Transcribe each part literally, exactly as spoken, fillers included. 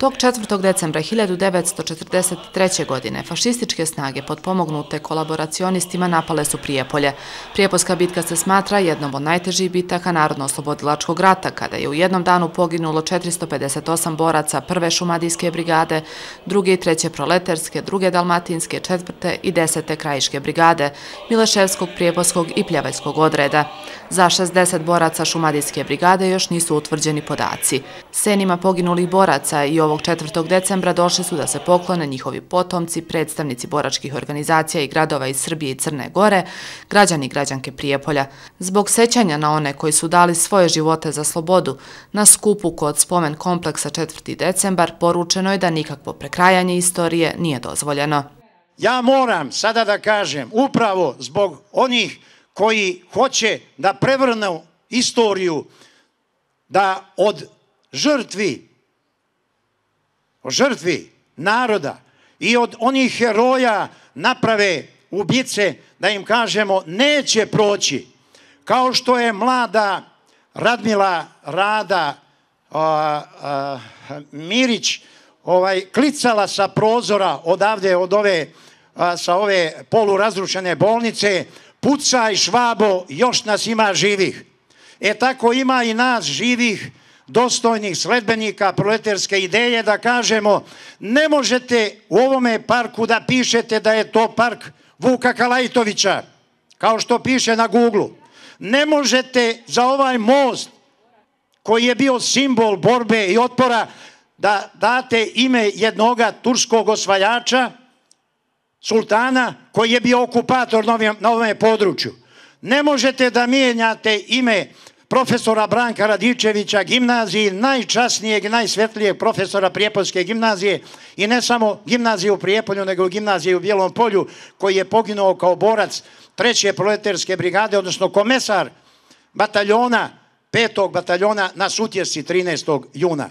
Tog četvrtog decembra hiljadu devetsto četrdeset treće. godine fašističke snage potpomognute kolaboracionistima napale su Prijepolje. Prijepoljska bitka se smatra jednom od najtežih bitaka Narodno-oslobodilačkog rata, kada je u jednom danu poginulo četiristo pedeset osam boraca prve šumadijske brigade, druge i treće proleterske, druge dalmatinske, četvrte i desete krajiške brigade, Mileševskog, Prijepoljskog i Pljevaljskog odreda. Za šezdeset boraca šumadijske brigade još nisu utvrđeni podaci. Senima poginulih boraca i ovog četvrtog decembra došli su da se poklone njihovi potomci, predstavnici boračkih organizacija i gradova iz Srbije i Crne Gore, građani i građanke Prijepolja. Zbog sećanja na one koji su dali svoje živote za slobodu, na skupu kod spomen kompleksa četvrti decembar poručeno je da nikakvo prekrajanje istorije nije dozvoljeno. Ja moram sada da kažem, upravo zbog onih koji hoće da prevrnu istoriju, da od žrtvi o žrtvi naroda i od onih heroja naprave ubice, da im kažemo neće proći. Kao što je mlada Radmila Rada a, a, Mirić ovaj, klicala sa prozora odavde, od ove, a, sa ove polurazrušene bolnice, pucaj Švabo, još nas ima živih. E tako ima i nas živih, dostojnih sledbenika proletarske ideje, da kažemo ne možete u ovome parku da pišete da je to park Vuka Kalajtovića, kao što piše na Googlu. Ne možete za ovaj most koji je bio simbol borbe i otpora da date ime jednoga turskog osvajača, sultana, koji je bio okupator na ovom području. Ne možete da mijenjate ime profesora Branka Radičevića, gimnaziji, najčasnijeg i najsvetlijeg profesora Prijepoljske gimnazije, i ne samo gimnazije u Prijepolju, nego gimnazije u Bijelom Polju, koji je poginuo kao borac treće proletarske brigade, odnosno komesar bataljona, petog bataljona na Sutjesci trinaestog juna.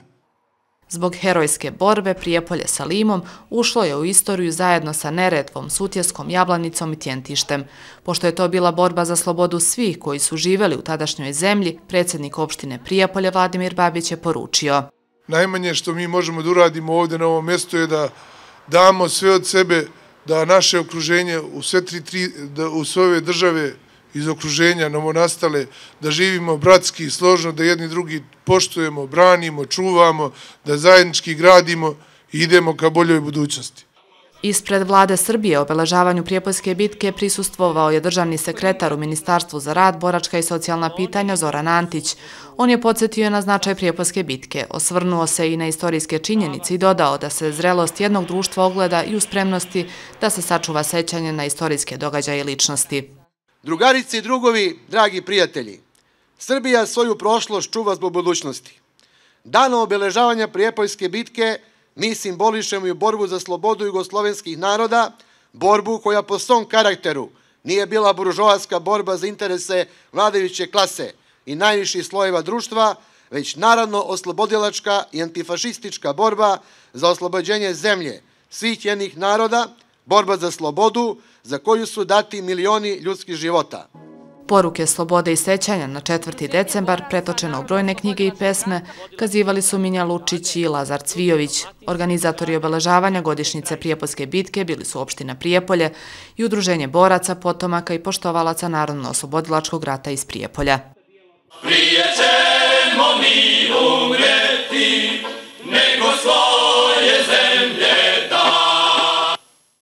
Zbog herojske borbe Prijepolje sa Limom ušlo je u istoriju zajedno sa Neretvom, Sutjeskom, Jablanicom i Tjentištem. Pošto je to bila borba za slobodu svih koji su živeli u tadašnjoj zemlji, predsjednik opštine Prijepolje Vladimir Babić je poručio: najmanje što mi možemo da uradimo ovdje na ovom mjestu je da damo sve od sebe, da naše okruženje u sve tri, tri, da u sve ove države iz okruženja novonastale, da živimo bratski i složno, da jedni drugi poštujemo, branimo, čuvamo, da zajednički gradimo i idemo ka boljoj budućnosti. Ispred vlade Srbije obeležavanju Prijepoljske bitke prisustvovao je državni sekretar u Ministarstvu za rad, boračka i socijalna pitanja Zoran Antić. On je podsjetio na značaj Prijepoljske bitke, osvrnuo se i na istorijske činjenice i dodao da se zrelost jednog društva ogleda i u spremnosti da se sačuva sećanje na istorijske događaje i ličnosti. Drugarice i drugovi, dragi prijatelji, Srbija svoju prošlost čuva zbog budućnosti. Danom obeležavanja Prijepoljske bitke mi simbolišemo i borbu za slobodu jugoslovenskih naroda, borbu koja po svom karakteru nije bila buržoaska borba za interese vladajuće klase i najviših slojeva društva, već naravno oslobodilačka i antifašistička borba za oslobođenje zemlje svih njenih naroda, borba za slobodu za koju su dati milioni ljudskih života. Poruke slobode i sećanja na četvrti decembar, pretočeno u brojne knjige i pesme, kazivali su Minja Lučić i Lazar Cvijović. Organizatori obeležavanja godišnjice Prijepoljske bitke bili su opština Prijepolje i Udruženje boraca, potomaka i poštovalaca Narodno-oslobodilačkog rata iz Prijepolja. Prije ćemo mi